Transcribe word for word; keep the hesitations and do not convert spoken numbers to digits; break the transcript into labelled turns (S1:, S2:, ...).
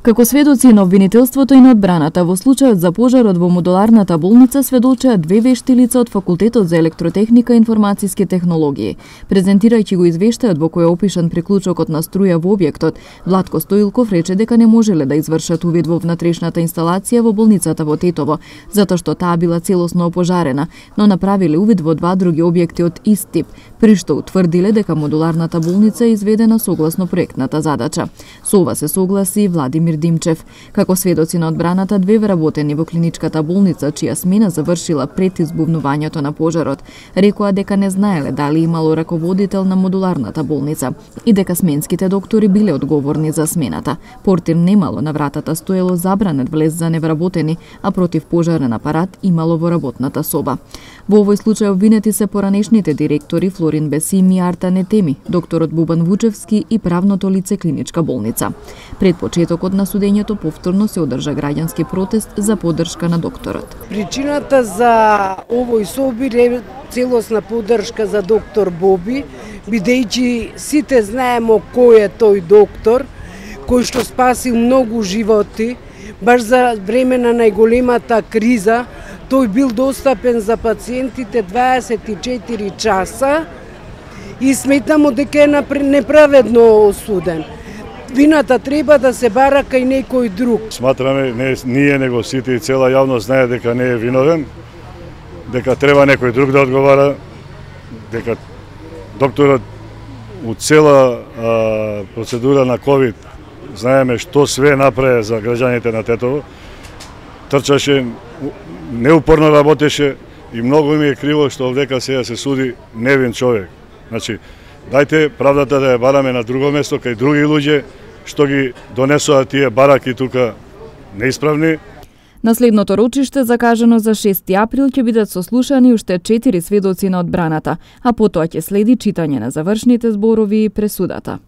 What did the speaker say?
S1: Како сведоци на обвинителството и на одбраната во случајот за пожарот во модуларната болница сведочеа две вешти лица од Факултетот за електротехника и информациски технологии. Презентирајќи го извештајот во кој е опишан приклучокот на струја во објектот, Владко Стоилков рече дека не можеле да извршат увид во внатрешната инсталација во болницата во Тетово, затоа што таа била целосно опожарена, но направиле увид во два други објекти од ист тип, при што утврдиле дека модуларната болница е изведена согласно проектната задача. Со ова се согласи и Владимир Димчев. Како сведоци на одбраната, две вработени во клиничката болница, чија смена завршила пред избувнувањето на пожарот, рекоа дека не знаеле дали имало раководител на модуларната болница и дека сменските доктори биле одговорни за смената. Портир немало, на вратата стоело забранет влез за невработени, а противпожарен апарат имало во работната соба. Во овој случај обвинети се поранешните директори Флорин Бесими и Арта Нетеми, докторот Бубан Вучевски и правното лице клиничка болница. Пред почетокот на судењето повторно се одржа граѓански протест за поддршка на докторот.
S2: Причината за овој собир е целосна поддршка за доктор Боби, бидејќи сите знаеме кој е тој доктор, кој што спасил многу животи, баш за време на најголемата криза. Тој бил достапен за пациентите дваесет и четири часа и сметамо дека е неправедно осуден. Вината треба да се бара кај некој друг.
S3: Сматраме, не ние, него сите и цела јавност знае дека не е виновен, дека треба некој друг да одговара, дека докторот у цела а, процедура на ковид знаеме што све направи за граѓаните на Тетово, трчаше, неупорно работеше и многу ми е криво што овдека сега се суди невин човек. Значи, дајте правдата да ја бараме на друго место, кај други луѓе што ги донесоа тие бараки тука неисправни.
S1: На следното рочиште, закажано за шести април, ќе бидат сослушани уште четири сведоци на одбраната, а потоа ќе следи читање на завршните зборови и пресудата.